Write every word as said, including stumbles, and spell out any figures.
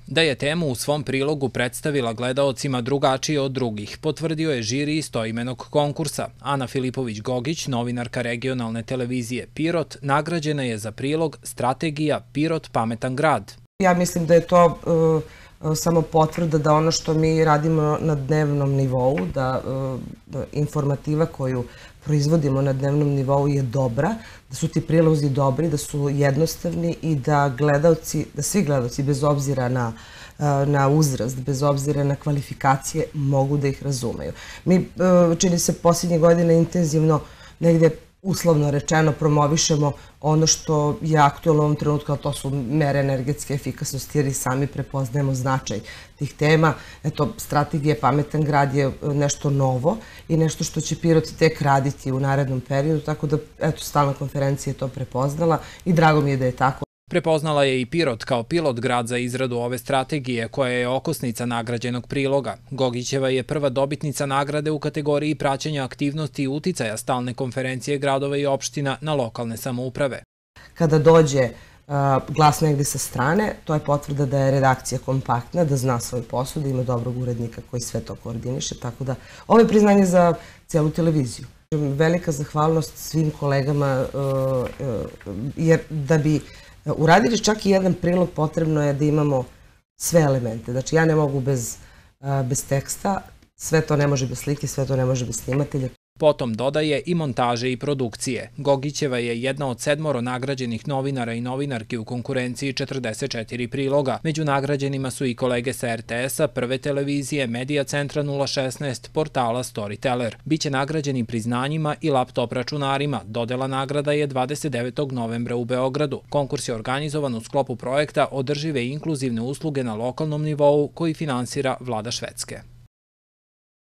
Da je temu u svom prilogu predstavila gledaocima drugačije od drugih, potvrdio je žiri istoimenog konkursa. Ana Filipović-Gogić, novinarka regionalne televizije Pirot, nagrađena je za prilog Strategija Pirot pametan grad. Ja mislim da je to uh, samo potvrda da ono što mi radimo na dnevnom nivou, da, uh, da informativa koju proizvodimo na dnevnom nivou je dobra, da su ti prilozi dobri, da su jednostavni i da gledaoci, da svi gledaoci bez obzira na, na uzrast, bez obzira na kvalifikacije mogu da ih razumeju. Mi, čini se, posljednje godine intenzivno negdje uslovno rečeno promovišemo ono što je aktualno u ovom trenutku, a to su mere energetske efikasnosti, jer i sami prepoznajemo značaj tih tema. Eto, strategija Pametan grad je nešto novo i nešto što će Pirot tek raditi u narednom periodu, tako da, eto, stalna konferencija je to prepoznala i drago mi je da je tako. Prepoznala je i Pirot kao pilot grad za izradu ove strategije, koja je okosnica nagrađenog priloga. Gogićeva je prva dobitnica nagrade u kategoriji praćenja aktivnosti i uticaja stalne konferencije gradova i opština na lokalne samouprave. Kada dođe uh, glas negdje sa strane, to je potvrda da je redakcija kompaktna, da zna svoj posao, da ima dobrog urednika koji sve to koordiniše, tako da ovo je priznanje za cijelu televiziju. Velika zahvalnost svim kolegama, uh, uh, jer da bi uradili čak i jedan prilog, potrebno je da imamo sve elemente. Znači, ja ne mogu bez, bez teksta, sve to ne može bez slike, sve to ne može bez snimatelja. Potom dodaje i montaže i produkcije. Gogićeva je jedna od sedmoro nagrađenih novinara i novinarki u konkurenciji četrdeset četiri priloga. Među nagrađenima su i kolege sa er te esa, Prve televizije, Medija centra nula šesnaest, portala Storyteller. Biće nagrađeni priznanjima i laptop računarima. Dodela nagrada je dvadeset devetog novembra u Beogradu. Konkurs je organizovan u sklopu projekta Održive i inkluzivne usluge na lokalnom nivou koji finansira vlada Švedske.